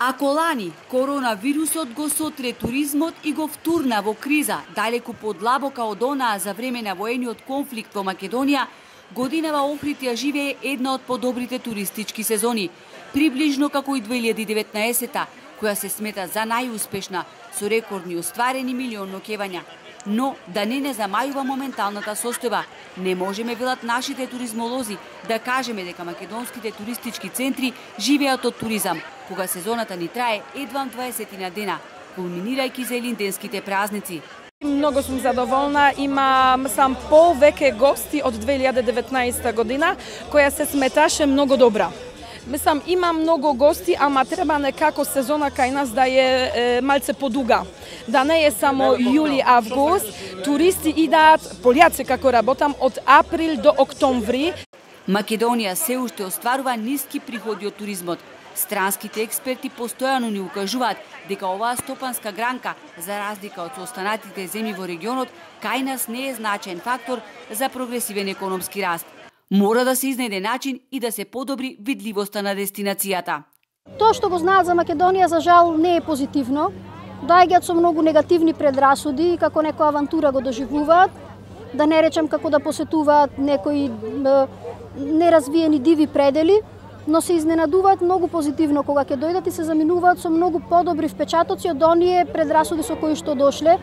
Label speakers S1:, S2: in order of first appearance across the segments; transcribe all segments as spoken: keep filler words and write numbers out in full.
S1: Ако лани коронавирусот го сотре туризмот и го втурна во криза, далеку подлабока од онаа за време на воениот конфликт во Македонија, годинава Охрид ја живее една од подобрите туристички сезони, приближно како и две илјади и деветнаесета, која се смета за најуспешна, со рекордни остварени милион ноќевања. Но да не не замајува моменталната состојба, не можеме, велат нашите туризмолози, да кажеме дека македонските туристички центри живеат од туризам, кога сезоната ни трае едвам дваесет дена, кулминирајќи за елинденските празници.
S2: Многу сум задоволна, имам сам повеќе гости од две илјади и деветнаесета година, која се сметаше многу добра. Мислам, има многу гости, ама треба некако сезона кај нас да е, е малце подуга. Да не е само јули-август, туристи идат, пољаци како работам, од април до октомври.
S1: Македонија се уште остварува ниски приходи од туризмот. Странските експерти постојано ни укажуваат дека оваа стопанска гранка, за разлика од останатите земји во регионот, кај нас не е значаен фактор за прогресивен економски раст. Мора да се изнајде начин и да се подобри видливоста на дестинацијата.
S3: Тоа што го знаат за Македонија, за жал, не е позитивно. Доаѓаат со многу негативни предрасуди, како некоја авантура го доживуваат, да не речем како да посетуваат некои е, неразвиени диви предели, но се изненадуваат многу позитивно кога ќе дојдат и се заминуваат со многу подобри впечатоци од оние предрасуди со кои што дошле.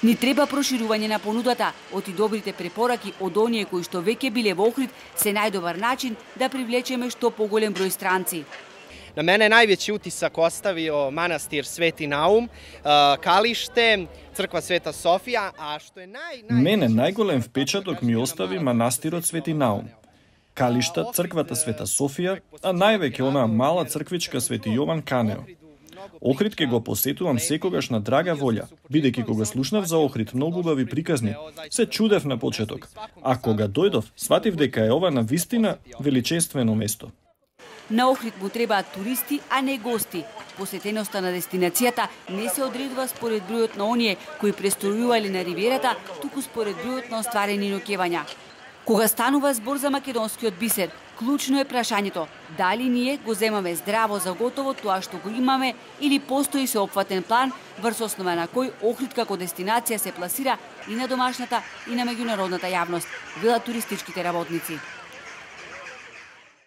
S1: Ни треба проширување на понудата, оти добрите препораки од оние кои што веќе биле во Охрид се најдобар начин да привлечеме што поголем број странци.
S4: На мене највеći утисак оставио манастир Свети Наум, Калиште, црква Света Софија, а што е нај нај
S5: Мене најголем впечаток ми остави манастирот Свети Наум, Калишта, црквата Света Софија, а највеќе онаа мала црквичка Свети Јован Канео. Охрид ке го посетувам секогаш на драга волја, бидејќи кога слушнав за Охрид многу убави приказни, се чудев на почеток, а кога дојдов, сватив дека е ова навистина величествено место.
S1: На Охрид му требаат туристи, а не гости. Посетеноста на дестинацијата не се одредува според бројот на оние кои престојувале на ривиерата, туку според бројот на остварени ноќевања. Кога станува збор за македонскиот бисер, клучно е прашањето дали ние го земаме здраво за готово тоа што го имаме или постои сеопфатен план врз основа на кој Охрид како дестинација се пласира и на домашната и на меѓународната јавност, велат туристичките работници.